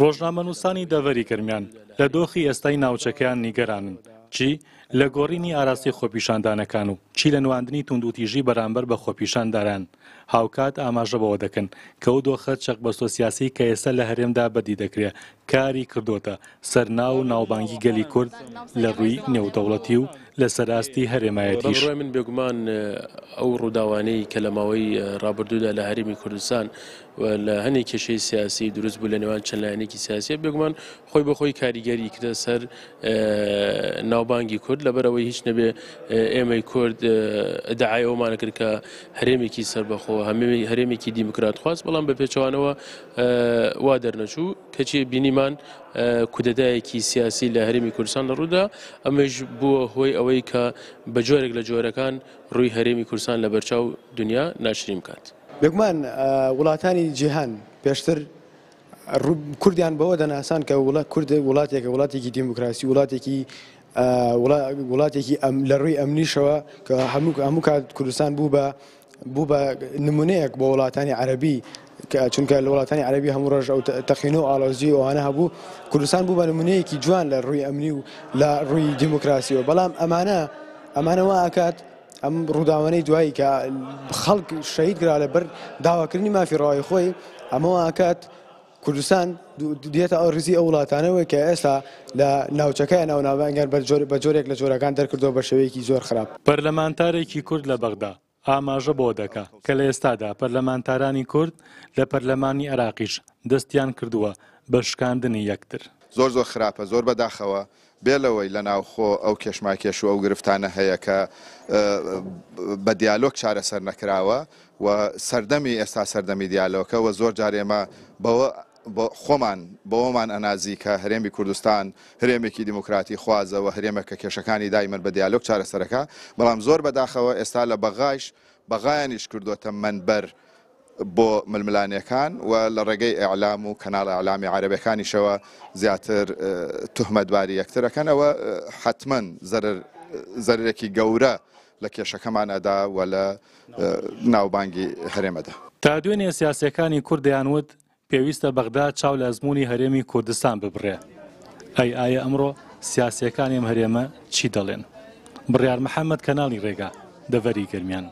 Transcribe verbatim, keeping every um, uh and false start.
ڕۆژنامەنووسانی دەڤەری گەرمیان لە دۆخی ئێستای ناوچەکەیان نیگەرانن، چی لە گۆڕینی ئاراستەی خۆپیشاندانەکان و چی لە نواندنی توندوتیژی بەرامبەر بە خۆپیشانداران. هاوکات ئاماژە بەوە دەکەن کە ئەو دۆخە چەقبەستۆ سیاسی کە ئێستا لە هەرێمدا بەدی دەکرێت کاری کردوتە سەر ناو و ناوبانگی گەلی کورد لە ڕووی نێودەوڵەتی و لەسەر ئاستی هەرێمایەتیش. بەڕای من بێگومان ئەو ڕووداوانەی کە لە ماوەی ڕابردوودا لە هەرێمی کوردستان و لە هەنێک کێشەی سیاسی دروست بوو لە نێوان چەند لایەنێکی سیاسی، بێگومان خۆی بە خۆی کاریگەری کردە سەر ناوبانگی کورد. لەبەرەوەی هیچ نەبێ ئێمەی کورد داعای ئەومانە کرد کە هەرێمێکی سەربەخۆ، هەرێمێکی دیموکرات خواست، بەڵام بە پێچەوانەوە وا دەرنەچوو. کەچی بینیمان کودەتایەکی سیاسی لە هەرێمی کوردستان لە ڕوودا، ئەمەش بووە هۆی ئەوەی کە بە جۆرێک لە جۆرەکان ڕووی هەرێمی کوردستان لە بەرچاو دنیا ناشرین بکات. بێگومان وڵاتانی جیهان پێشتر کوردیان بەوە دەناسان کە کورد وڵاتێکە، وڵاتێکی دیموکراسی، وڵاتێکی وڵاتێکی لە ڕووی ئەمنیشەوە کە هەموو کات کوردستان بوو بە بوو بە نمونەیەک بۆ وڵاتانی عەرەبی، چونکە لە وڵاتانی عەرەبی هەموو ڕۆژ ئەو تەقینە و ئاڵۆزی ئەوانە هەبوو. کوردستان بوو بە نمونەیەکی جوان لە ڕووی ئەمنی و لە ڕووی دیموکراسیەوە. بەڵام ئەمانە ئەمانە وا ئەکات ئەم ڕووداوانەی دوایی کە خەڵک شەهید کرا لەبەر داواکردنی مافی ڕەوای خۆی، ئەمە وا ئەکات کوردستان دێتە ئەو ڕیزی ئەو وڵاتانەوە کە ئێستا لە ناوچەکەیان ئەو ناوبانگیان بە جۆرێک لە جۆرەکان دەرکردەوە بە شێوەیەکی زۆر خراپ. پەرلەمانتارێکی کورد لە بەغدا ئاماژە بۆ دەکا کە لە ئێستادا پەرلەمانتارانی کورد لە پەرلەمانی عێراقیش دەستیان کردووە بە شکاندنی یەکتر. زۆر زۆر خراپە، زۆر بەداخەوە بێ لەوەی لە ناوخۆ ئەو کێشماکێش و ئەو گرفتانە هەیە کە بە دیالۆگ چارەسەر نەکراوە و سەردەمی ئێستا سەردەمی دیالۆکە و زۆر جار ئێمە بەوە خۆمان بەوەمان ئەنازی کە هەرێمی کوردستان هەرێمێکی دیموکراتی خوازە و هەرێمێک کە کێشەکانی دایمەن بە دیالۆگ چارەسەرەکە، بەڵام زۆر بەداخەوە ئێستا لە بەغایش بەغایانیش کردوتە منبەر بۆ ململانیەکان و لە ڕێگەی ئیعلام و کەناڵ ئیعلامی عەرەبەکانیشەوە زیاتر تهمەتباری یەکترەکەنەوە. حتمما زەرەرێکی گەورە لە کێشەکەمان ئەدا و لە ناوبانگی هەرێمەدا. تا دوێنێ سیاسیەکانی کورد دەیانوت پێویستە بەغدا چاو لە ئەزمموی هەرێمی کوردستان ببڕێ. ئەی ئایا ئەمڕۆ سیاسیەکانی ئەم هەرێمە چی دەڵێن؟ بڕیار محەممەد، کەناڵی ڕێگا، دەڤەری گەرمیان.